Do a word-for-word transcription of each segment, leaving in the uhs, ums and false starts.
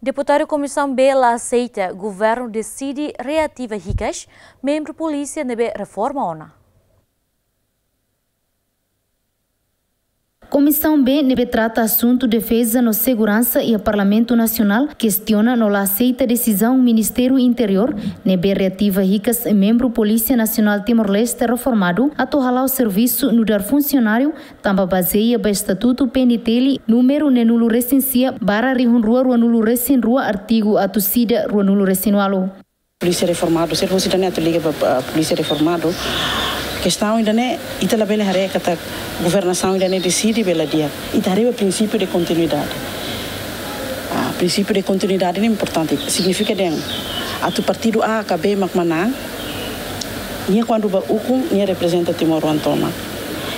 Deputadu Komisaun B la aseita governu deside reativa hikas membru polísia ne'ebé reforma ona. Komisaun B ne'ebé trata asuntu defeza no seguransa iha Parlamentu Nasionál kestiona no la aseita desizaun Ministériu Interiór ne'ebé reativa hikas membru Polísia Nasionál Timor-Leste reformadu atu hala'o servisu nu'udar funsionáriu tanba bazeia ba Estatutu P N T L númeru neenulu resin sia barra rihun rua ruanulu resin rua, artigu atus ida ruanulu resin ualu. Polísia reformadu, se fosse ida-ne'e atu liga ba, ba polísia reformadu, kestaun ida-ne'e ita labele haree katak governasaun ida-ne'e deside bela dia. Ita haree ba prinsípiu de kontinuidade. Ah, prinsípiu de kontinuidade ne'e importante. Signifika dehan atu partidu A ka B mak manán, nia kuandu ba ukun, nia reprezenta timoroan tomak.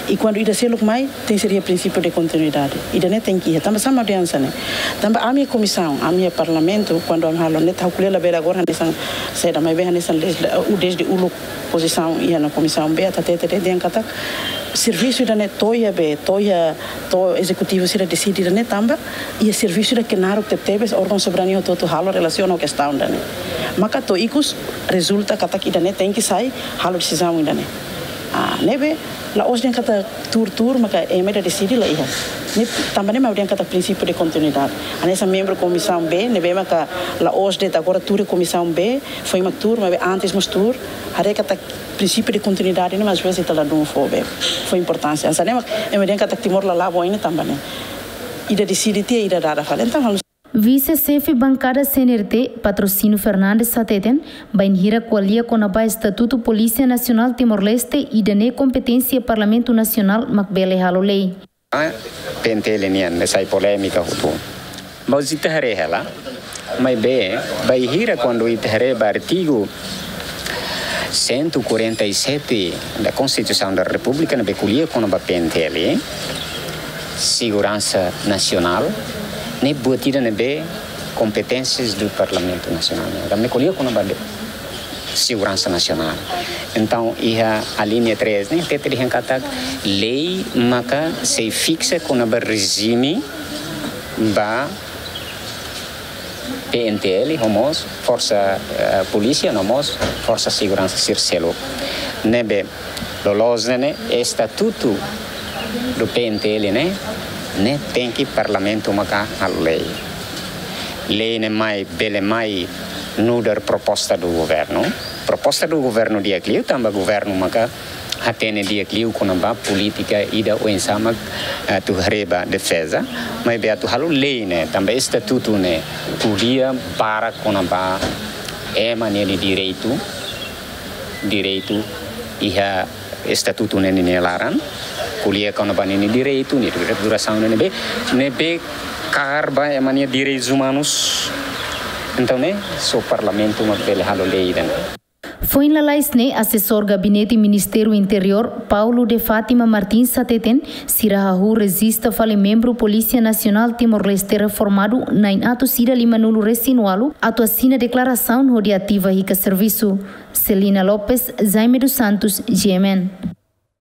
I kuandu ida seluk mai, tenke ser iha prinsípiu de kontinuidade. Ida-ne'e tenke iha. Tanba saida mak dehan hanesan ne'e? Tanba ami komisaun, ami Parlamentu, kuandu ami halo ne'e, ha'u ko'alia labele agora hanesan saida, maibé hanesan desde, uh, desde uluk pozisaun iha ona Komisaun B, atu hatete dehan katak servisu ida-ne'e to'o iha be, to'o iha, to'o ezekutivu sira deside ida-ne'e tanba iha servisu ida ke naruk tebetebes órgaun soberania hotu-hotu halo relasiona ho kestaun ida-ne'e. Maka to'o ikus rezulta katak ida-ne'e tenke sai halo desizaun ida-ne'e. Ah, ne'ebé la'ós dehan katak tuur-tuur maka ema ida deside, la iha. Ne'e tanba ne'e mak dehan katak prinsípiu de kontinuidade. Hanesan membru Komisaun B, ne'ebé maka la'ós de'it agora tuur iha Komisaun B, foin mak tuur, maibé antes mós tuur. Haree katak prinsípiu de kontinuidade ne'e mak às vezes ita ladún fó be, fó importánsia. Hanesan ne'e mak ema dehan katak Timor la la'o ba oin ne'e tanba ne'e. Ida deside tiha, ida dada fali. Entaun, Vise-Xefe Bankada C N R T, Patrocínio Fernandes hateten, bainhira ko'alia kona-ba Estatutu Polísia Nasionál Timor-Leste, ida-ne'e kompeténsia Parlamentu Nasionál mak bele halo lei. P N T L nian, ne'e sai polémika hotu. Maibé ita haree hela, maibé bainhira kuandu ita haree ba artigu cento e quarenta e sete da Constituição da República, ne'ebé ko'alia kona-ba P N T L, seguransa nasionál, ne'e buat ida ne'ebé kompeténsias do Parlamentu Nasionál. Ne'e ko'alia kona-ba de seguransa nasionál. Entaun, iha alínea três ne'e hatete dehan katak lei maka sei fiksa kona-ba rejime ba P N T L, no mós forsa, eh, polísia, no mós forsa seguransa sira seluk. Ne'ebé loloos ne'e, ne'e estatutu do P N T L ne'e, ne'e tenke Parlamentu maka halo lei. Lei ne'e mai, bele mai nu'udar proposta do governu. Proposta do governu di'ak liu, tanba governu maka hatene di'ak liu kona-ba polítika ida oinsá mak, eh, atu haree ba defeza, maibé atu halo lei ne'e, tanba estatutu ne'e ko'alia barak kona-ba ema nia direitu, direitu iha estatutu ne'e nia laran, ko'alia kona-ba nia direitu, nia durasaun ne'ebé, ne'ebé kaer ba ema nia direitus umanus. Entaun ne'e, só Parlamentu mak bele halo lei ida-ne'e. Foin lalais ne'e, Asesór Gabinete Ministériu Interiór, Paulo de Fátima Martins hateten, sira hahú rejista fali membru Polísia Nasionál Timor-Leste reformadu na'in atus ida limanulu resin ualu atu asina deklarasaun hodi ativa hikas servisu. Celina Lopes, Jaime dos Santos, G M N.